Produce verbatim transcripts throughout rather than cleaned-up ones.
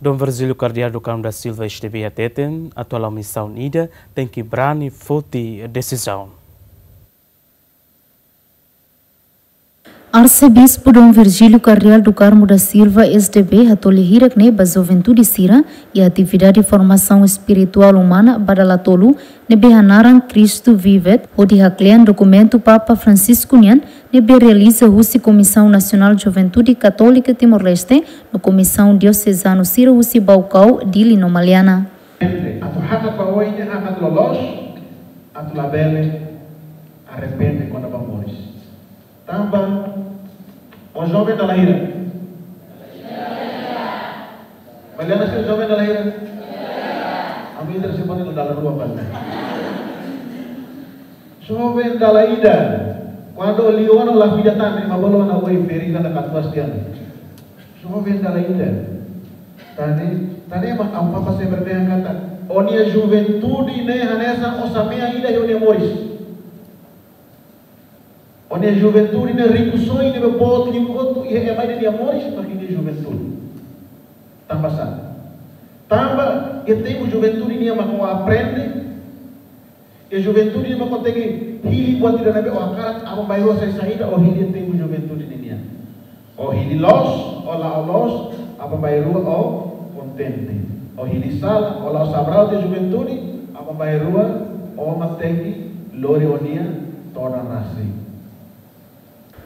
Dom Virgílio Cardeal do Carmo da Silva S D B hateten, atu hala'o misaun ida, tenke brani foti desizaun. Arsebispu Dom Virgílio Cardeal do Carmo da Silva S D B hato'o lia hirak-ne'e ba juventude sira iha atividade formasaun espirituál umana ba dala tolu ne'ebé hanaran Cristo Vivit, hodi haklean dokumentu Papa Francisco nian ne'ebé realiza husi Komisaun Nasionál Juventude Katólika Timor-Leste no komisaun diosezanu sira husi Baucau, Dili no Maliana. Atu hakat ba oin ne'e hakat loloos, atu labele arrepende kona-ba moris. Tanba, ó joven dala hira? Maliana sira joven dala hira? Ami ita se pone dala rua bana. Joven dala ida. Kuandu liu ona la vida tan, ema bolu ona oi feri na katuas tian. Joven dala ida. Tan ne'e, tan ne'e mak Amu Papa sempre dehan katak, ó-nia juventude ne'e hanesan osan-mean ida iha ó-nia moris. Ó-nia juventude ne'e rikusoin ne'ebé boot liu hotu iha ema ida nia moris mak nia juventude. Tanba sá? Tanba iha tempu juventude nian mak ó aprende, iha juventude nian mak ó tenke hili buat ida ne'ebé ó hakarak, aban-bainrua sai saida ó hili iha tempu juventude nian. Ó hili loos, ó la'o loos, aban-bainrua ó kontente. Ó hili sala, ó la'o sabraut iha juventude, aban-bainrua ó mak tenke lori ó-nia todan rasik.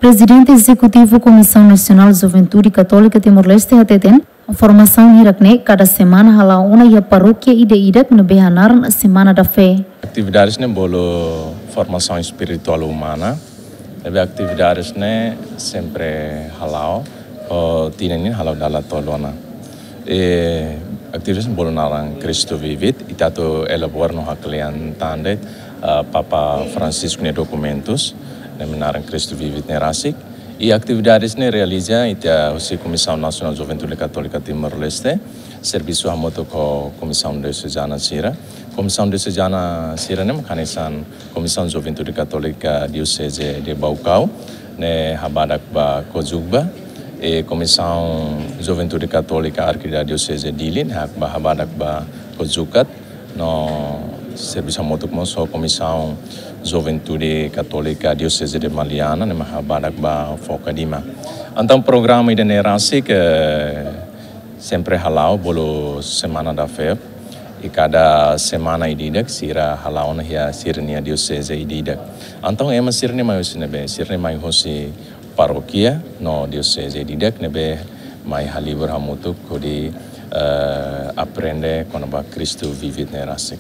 Prezidente Ezekutivu Komisaun Nasionál Juventude Katólika Timor-Leste hateten, formasaun hirak-ne'e kada semana hala'o ona iha parókia ida-idak ne'ebé hanaran Semana da Fé. Atividades ne'e bolu formasaun espirituál umana, ne'ebé atividades ne'e sempre hala'o, ho tinan ne'e hala'o dala tolu ona. E, atividades bolu naran Cristo Vivit, ita atu elabora no haklean tan de'it, ah, Papa Francisco nia dokumentus, ne'ebé naran Cristo Vivit ne'e rasik. I atividades ne'e realiza ita husi Komisaun Nasionál Juventude Katólika Timor-Leste, servisu hamutuk ho komisaun diosezana sira. Komisaun diosezana sira ne'e mak hanesan Komisaun Juventude Katólika Dioseze de Baucau, ne'e habadak ba Cojubá, e Komisaun Juventude Katólika Arkidioseze Dili, ne'e hak ba habadak ba Cojucat, no servisu hamutuk mós ho Komisaun Juventude Katólika Dioseze de Maliana, ne'e mak habadak ba Fokadima. Entaun programa ida-ne'e rasik, eh, sempre hala'o bolu Semana da Fé. I kada semana ida-idak sira hala'o ona iha sira-nia dioseze ida-idak. Entaun ema sira-ne'e mai husi ne'ebé? Sira-ne'e mai husi parókia no dioseze ida-idak ne'ebé mai halibur hamutuk hodi, eh, aprende kona-ba Cristo Vivit ne'e rasik.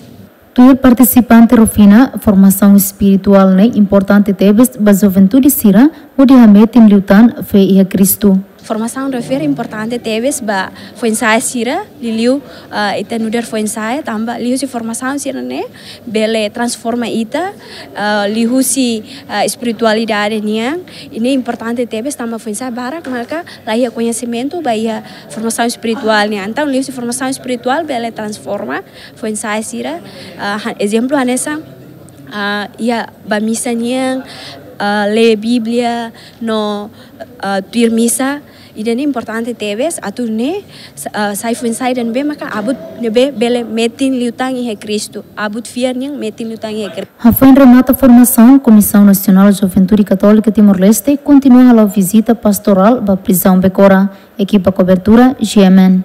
Tuir partisipante Rufina, formasaun espirituál ne'e importante tebes ba juventude sira hodi hametin liután fé iha Kristu. Formasaun refere importante tebes ba foin-sa'e sira, liuliu, ah, ita nu'udar foin-sa'e, tanba liuhusi formasaun sira-ne'e bele transforma ita, ah, liuhusi, ah, espiritualidade nian, i ne'e importante tebes tanba foin-sa'e barak maka la iha koñesimentu ba iha formasaun espirituál nian. Entaun, liuhusi formasaun espirituál bele transforma foin-sa'e sira, ah, ha-, ezemplu hanesan, ah, iha bá misa nian, ah, lee Bíblia, no, ah, tuir misa, ida-ne'e importante tebes, atu nune'e, sa-, ah, sai foin-sa'e ida ne'ebé maka abut ne'ebé bele metin liután iha Kristu, abut fiar nian metin liután iha Kristu. Hafoin remata formasaun, Komisaun Nasionál Juventude Katólika Timor-Leste kontinua hala'o vizita pastorál ba prizaun Becora. Ekipa kobertura, G M N.